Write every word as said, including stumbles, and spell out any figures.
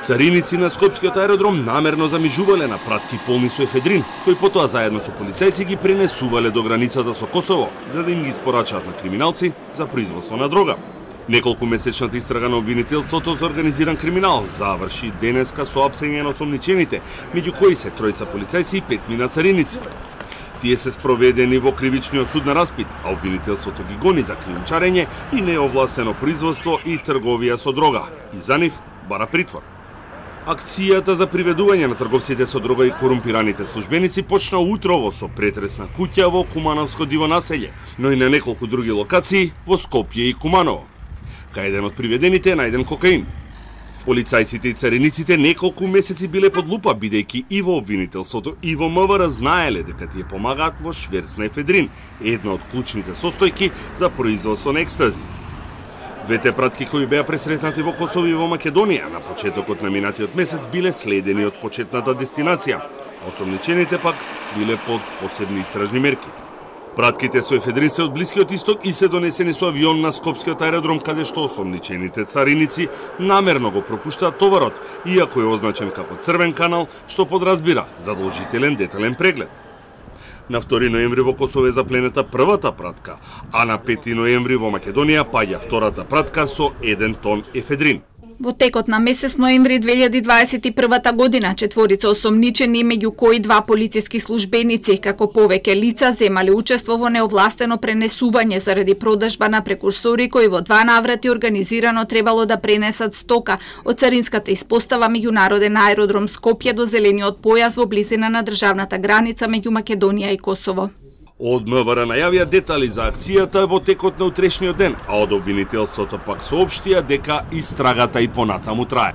Цариници на Скопскиот аеродром намерно замижувале на пратки полни со ефедрин, кои потоа заедно со полицајци ги пренесувале до границата со Косово, за да им ги испорачаат на криминалци за производство на дрога. Неколку месечната истрага на обвинителството за организиран криминал заврши денеска со апсење на осомничените, меѓу кои се тројца полицајци и петмина цариници. Тие се спроведени во кривичниот суд на распит, а обвинителството ги гони за криумчарење и неовластено производство и трговија со дрога, и за нив бара притвор. Акцијата за приведување на трговците со дрога и корумпираните службеници почна утрово со претрес на куќа во Кумановско диво населје, но и на неколку други локации во Скопје и Куманово. Кај еден од приведените е најден кокаин. Полицајците и цариниците неколку месеци биле под лупа, бидејќи и во обвинителството и во МВР знаеле дека тие помагаат во шверц на ефедрин, една од клучните состојки за производство на екстази. Двете пратки кои беа пресретнати во Косово и во Македонија на почетокот на минатиот месец биле следени од почетната дестинација, а осомничените пак биле под посебни истражни мерки. Пратките со ефедрин се од Блискиот исток и се донесени со авион на Скопскиот аеродром, каде што осомничените цариници намерно го пропуштаат товарот, иако е означен како црвен канал, што подразбира задолжителен детален преглед. На втори ноември во Косово е запленета првата пратка, а на пети ноември во Македонија паѓа втората пратка со еден тон ефедрин. Во текот на месец ноември две илјади дваесет и прва година четворица осомничени, меѓу кои два полициски службеници, како повеќе лица земале учество во неовластено пренесување заради продажба на прекурсори кои во два наврати организирано требало да пренесат стока од царинската испостава меѓународен аеродром Скопје до зелениот појас во близина на државната граница меѓу Македонија и Косово. Од МВР најавија детали за акцијата во текот на утрешниот ден, а од обвинителството пак соопштија дека истрагата и понатаму трае.